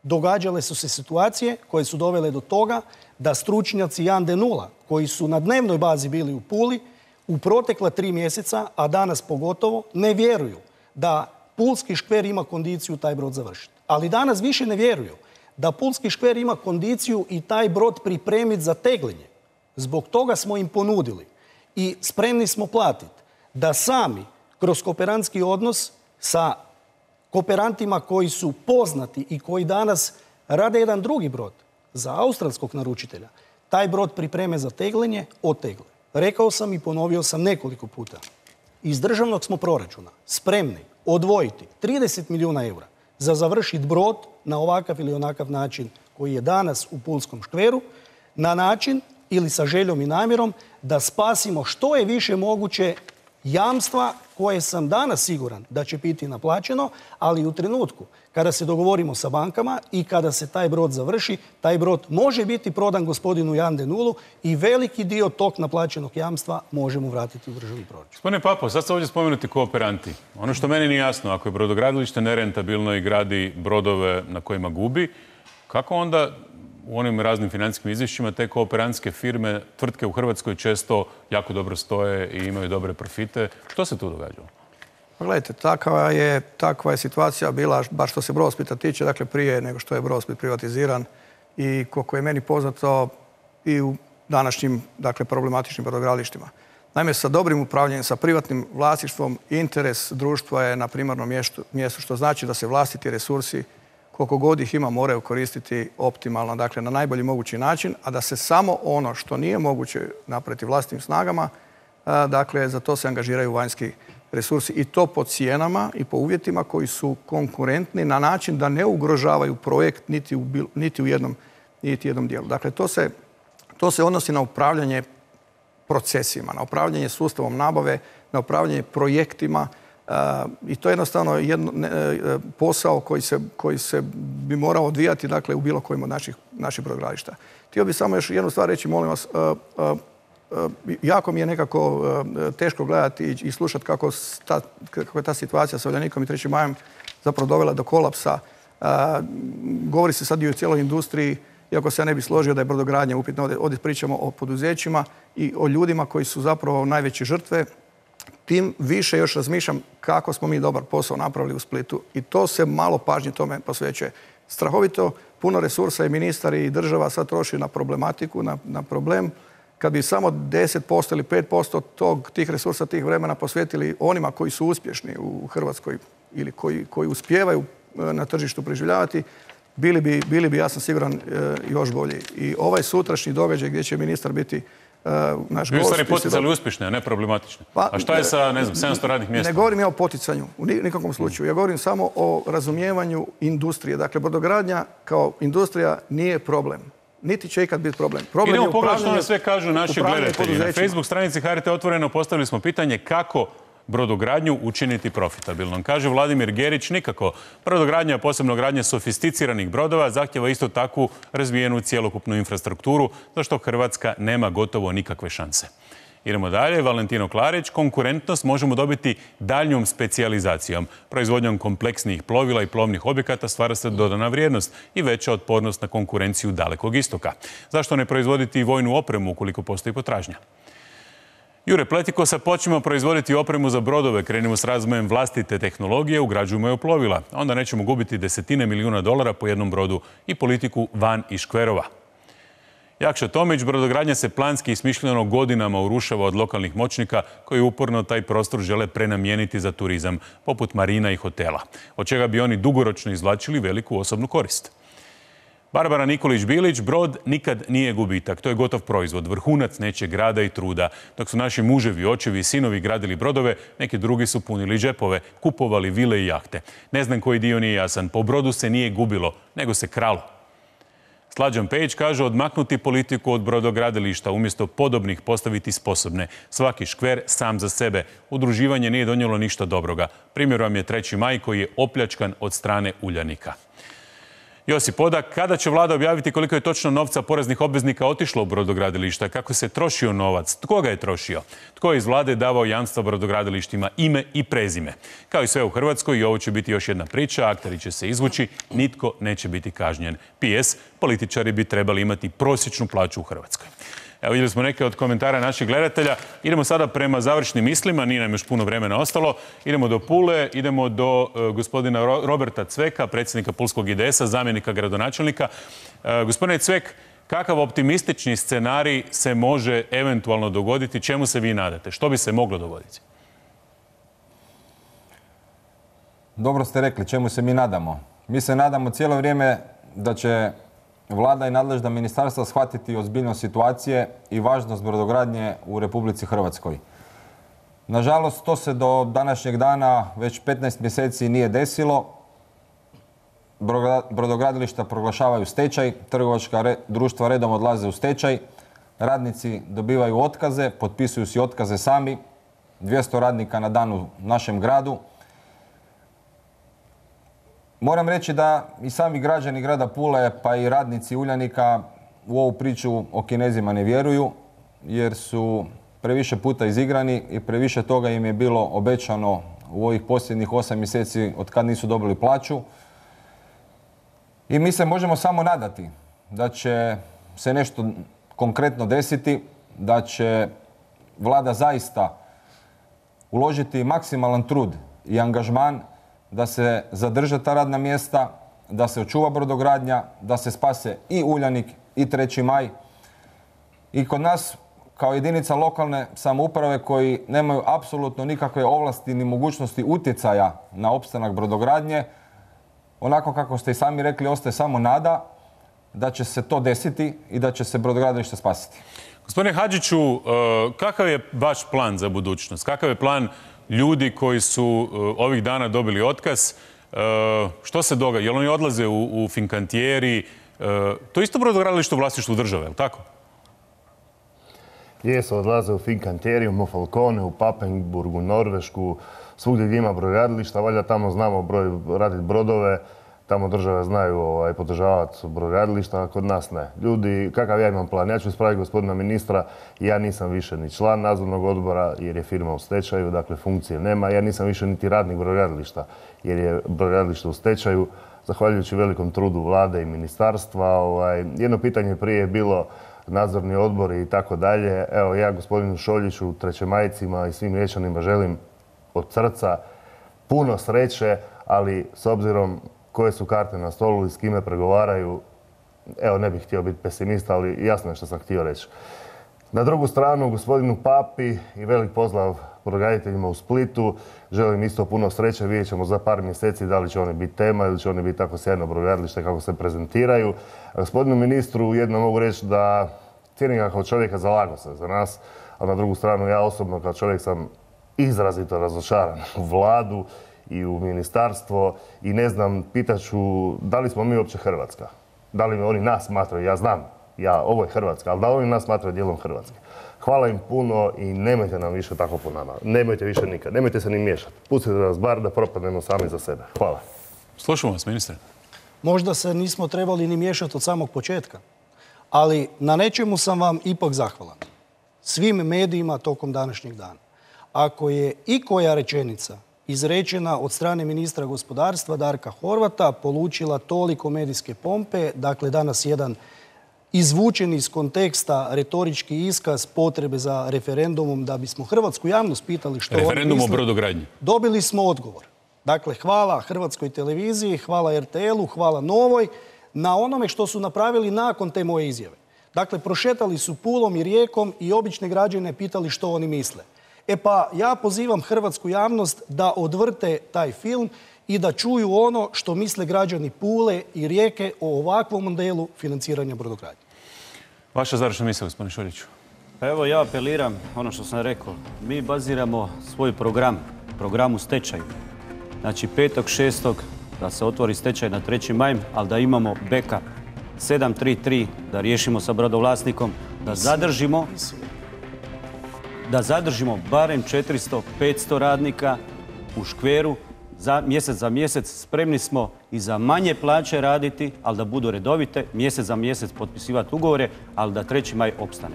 Događale su se situacije koje su dovele do toga da stručnjaci Jan de Nula, koji su na dnevnoj bazi bili u Puli, u protekla 3 mjeseca, a danas pogotovo, ne vjeruju da Pulski škver ima kondiciju taj brod završiti. Ali danas više ne vjeruju da Pulski škver ima kondiciju i taj brod pripremiti za tegljenje. Zbog toga smo im ponudili i spremni smo platiti da sami kroz kooperantski odnos sa kooperantima koji su poznati i koji danas rade jedan drugi brod za australskog naručitelja, taj brod pripreme za tegljenje, otegle. Rekao sam i ponovio sam nekoliko puta. Iz državnog smo proračuna spremni odvojiti 30 milijuna eura za završiti brod na ovakav ili onakav način koji je danas u Pulskom škveru, na način ili sa željom i namjerom da spasimo što je više moguće jamstva koje sam danas siguran da će biti naplaćeno, ali u trenutku kada se dogovorimo sa bankama i kada se taj brod završi, taj brod može biti prodan gospodinu Jan de Nulu i veliki dio tog naplaćenog jamstva možemo vratiti u državni proračun. Gospodine Papo, sad ste ovdje spomenuti kooperanti. Ono što meni nije jasno, ako je brodogradilište nerentabilno i gradi brodove na kojima gubi, kako onda u onim raznim financijskim izvješćima te kooperantske firme, tvrtke u Hrvatskoj često jako dobro stoje i imaju dobre profite? Što se tu događalo? Pa gledajte, takva je situacija bila, baš što se Brodosplita tiče, dakle prije nego što je Brodosplit privatiziran i koliko je meni poznato i u današnjim, dakle, problematičnim brodogradilištima. Naime, sa dobrim upravljanjem, sa privatnim vlasništvom, interes društva je na primarnom mjestu, što znači da se vlastiti resursi, koliko god ih ima, moraju koristiti optimalno, dakle na najbolji mogući način, a da se samo ono što nije moguće napraviti vlastitim snagama, dakle za to se angažiraju vanjski resursi i to po cijenama i po uvjetima koji su konkurentni na način da ne ugrožavaju projekt niti u jednom dijelu. Dakle, to se odnosi na upravljanje procesima, na upravljanje sustavom nabave, na upravljanje projektima, i to je jednostavno posao koji se bi morao odvijati, dakle, u bilo kojem od naših brodogradilišta. Htio bih samo još jednu stvar reći, molim vas, jako mi je nekako teško gledati i slušati kako je ta situacija sa Uljanikom i 3. majem zapravo dovela do kolapsa. Govori se sad i o cijeloj industriji, iako se ja ne bih složio da je brodogradnja upitna. Ovdje pričamo o poduzećima i o ljudima koji su zapravo najveće žrtve. Tim više još razmišljam kako smo mi dobar posao napravili u Splitu i to se malo pažnje tome posvećuje. Strahovito puno resursa i ministar i država sad troši na problematiku, na problem. Kad bi samo 10% ili 5% tih resursa, tih vremena posvetili onima koji su uspješni u Hrvatskoj ili koji uspijevaju na tržištu preživljavati, bili bi, ja sam siguran, još bolji. I ovaj sutrašnji događaj gdje će ministar biti naš gost... Vi ste poticali uspješne, a ne problematične. A šta je sa, ne znam, 700 radnih mjesta? Ne govorim ja o poticanju, u nikakvom slučaju. Ja govorim samo o razumijevanju industrije. Dakle, brodogradnja kao industrija nije problem. Niti će ikad biti problem. Idemo pogledati što nam sve kažu naši gledatelji. Na Facebook stranici HRT Otvoreno postavili smo pitanje kako brodogradnju učiniti profitabilnom. Kaže Vladimir Gerić, nikako. Brodogradnja, posebno gradnja sofisticiranih brodova, zahtjeva isto takvu razvijenu cjelokupnu infrastrukturu, za što Hrvatska nema gotovo nikakve šanse. Idemo dalje. Valentino Klarić, konkurentnost možemo dobiti daljnjom specijalizacijom. Proizvodnjom kompleksnijih plovila i plovnih objekata stvara se dodana vrijednost i veća otpornost na konkurenciju Dalekog istoka. Zašto ne proizvoditi i vojnu opremu ukoliko postoji potražnja? Jure Pletikosa, počnemo proizvoditi opremu za brodove, krenimo s razvojem vlastite tehnologije, ugrađujemo je u plovila. Onda nećemo gubiti desetine milijuna dolara po jednom brodu i politiku van i škverova. Jakša Tomić, brodogradnja se planski i smišljeno godinama urušava od lokalnih moćnika koji uporno taj prostor žele prenamijeniti za turizam, poput marina i hotela, od čega bi oni dugoročno izvlačili veliku osobnu korist. Barbara Nikolić-Bilić, brod nikad nije gubitak. To je gotov proizvod, vrhunac nečeg rada i truda. Dok su naši muževi, očevi i sinovi gradili brodove, neki drugi su punili džepove, kupovali vile i jahte. Ne znam koji dio nije jasan. Po brodu se nije gubilo, nego se kralo. Slađan Pejić kaže odmaknuti politiku od brodogradilišta, umjesto podobnih postaviti sposobne. Svaki škver sam za sebe. Udruživanje nije donijelo ništa dobroga. Primjer vam je 3. maj koji je opljačkan od strane Uljanika. Josip Odak, kada će vlada objaviti koliko je točno novca poreznih obveznika otišlo u brodogradilišta? Kako se trošio novac? Tko ga je trošio? Tko je iz vlade davao jamstva brodogradilištima, ime i prezime? Kao i sve u Hrvatskoj, i ovo će biti još jedna priča, akteri će se izvući, nitko neće biti kažnjen. PS, političari bi trebali imati prosječnu plaću u Hrvatskoj. Evo, vidjeli smo neke od komentara naših gledatelja. Idemo sada prema završnim mislima, nije nam još puno vremena ostalo. Idemo do Pule, idemo do gospodina Roberta Cveka, predsjednika Pulskog IDS-a, zamjenika gradonačelnika. Gospodine Cvek, kakav optimistični scenarij se može eventualno dogoditi? Čemu se vi nadate? Što bi se moglo dogoditi? Dobro ste rekli, čemu se mi nadamo. Mi se nadamo cijelo vrijeme da će vlada i nadležna ministarstva shvatiti ozbiljnost situacije i važnost brodogradnje u Republici Hrvatskoj. Nažalost, to se do današnjeg dana već 15 mjeseci nije desilo. Brodogradilišta proglašavaju stečaj, trgovačka društva redom odlaze u stečaj, radnici dobivaju otkaze, potpisuju si otkaze sami, 200 radnika na dan u našem gradu. Moram reći da i sami građani grada Pule, pa i radnici Uljanika u ovu priču o Kinezima ne vjeruju, jer su previše puta izigrani i previše toga im je bilo obećano u ovih posljednjih 8 mjeseci od kad nisu dobili plaću. I mi se možemo samo nadati da će se nešto konkretno desiti, da će vlada zaista uložiti maksimalan trud i angažman da se zadrže ta radna mjesta, da se očuva brodogradnja, da se spase i Uljanik i 3. maj. I kod nas, kao jedinica lokalne samouprave koji nemaju apsolutno nikakve ovlasti ni mogućnosti utjecaja na opstanak brodogradnje, onako kako ste i sami rekli, ostaje samo nada da će se to desiti i da će se brodogradilište spasiti. Gospodine Hadžiću, kakav je vaš plan za budućnost? Kakav je plan ljudi koji su ovih dana dobili otkaz? Što se događa? Jel oni odlaze u Fincantieri? To je isto brodogradilište u vlasništvu države, je li tako? Jesu, odlaze u Fincantieri, u Mofalcone, u Papenburg, u Norvešku, svugdje gdje ima brodogradilišta, valjda tamo znamo raditi brodove, tamo države znaju podržavati brodogradilišta, a kod nas ne. Ljudi, kakav ja imam plan? Ja ću ispraviti gospodina ministra, ja nisam više ni član nadzornog odbora jer je firma u stečaju, dakle funkcije nema. Ja nisam više niti radnik brodogradilišta jer je brodogradilište u stečaju, zahvaljujući velikom trudu vlade i ministarstva. Jedno pitanje prije je bilo nadzorni odbori i tako dalje. Evo, ja gospodinu Šoljiću, trećemajcima i svim Riječanima želim od srca puno sreće, ali s obzirom koje su karte na stolu i s kime pregovaraju, evo, ne bih htio biti pesimista, ali jasno je što sam htio reći. Na drugu stranu, gospodinu Papi i velik pozdrav brodograditeljima u Splitu. Želim isto puno sreće. Vidjet ćemo za par mjeseci da li će oni biti tema ili će oni biti tako sjajno brodogradilište kako se prezentiraju. A gospodinu ministru jedno mogu reći da cijenim ga kao čovjeka, zalagao se za nas, a na drugu stranu ja osobno kao čovjek sam izrazito razočaran u vladu i u ministarstvo i ne znam, pitaću da li smo mi uopće Hrvatska? Da li oni nas smatraju? Ja znam, ovo je Hrvatska, ali da li oni nas smatraju dijelom Hrvatske? Hvala im puno i nemojte nam više tako po nama. Nemojte više nikad. Nemojte se ni miješati. Pustite nas bar da propadnemo sami za sebe. Hvala. Slušamo vas, ministre. Možda se nismo trebali ni miješati od samog početka, ali na nečemu sam vam ipak zahvalan. Svim medijima tokom današnjeg dana. Ako je ikoja rečenica izrečena od strane ministra gospodarstva Darka Horvata polučila toliko medijske pompe, dakle danas jedan izvučen iz konteksta retorički iskaz potrebe za referendumom da bismo hrvatsku javnost pitali što oni misle. Referendum o brodogradnji. Dobili smo odgovor. Dakle, hvala Hrvatskoj televiziji, hvala RTL-u, hvala Novoj na onome što su napravili nakon te moje izjave. Dakle, prošetali su Pulom i Rijekom i obične građane pitali što oni misle. E pa ja pozivam hrvatsku javnost da odvrte taj film i da čuju ono što misle građani Pule i Rijeke o ovakvom modelu financiranja brodogradnje. Vaša završna misao, gospodine Šoljiću. Pa evo, ja apeliram ono što sam rekao. Mi baziramo svoj program u stečaju. Znači 5.6. da se otvori stečaj na 3. maj, ali da imamo backup 733 da riješimo sa brodovlasnikom, da zadržimo barem 400-500 radnika u škveru mjesec za mjesec. Spremni smo i za manje plaće raditi, ali da budu redovite, mjesec za mjesec potpisivati ugovore, ali da 3. maj opstane.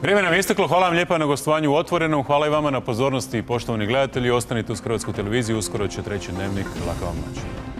Vrijeme nam je isteklo. Hvala vam lijepa na gostovanju u Otvorenom. Hvala i vama na pozornosti, poštovani gledatelji. Ostanite uz Hrvatsku televiziju. Uskoro će 3. Dnevnik. Laka vam noć.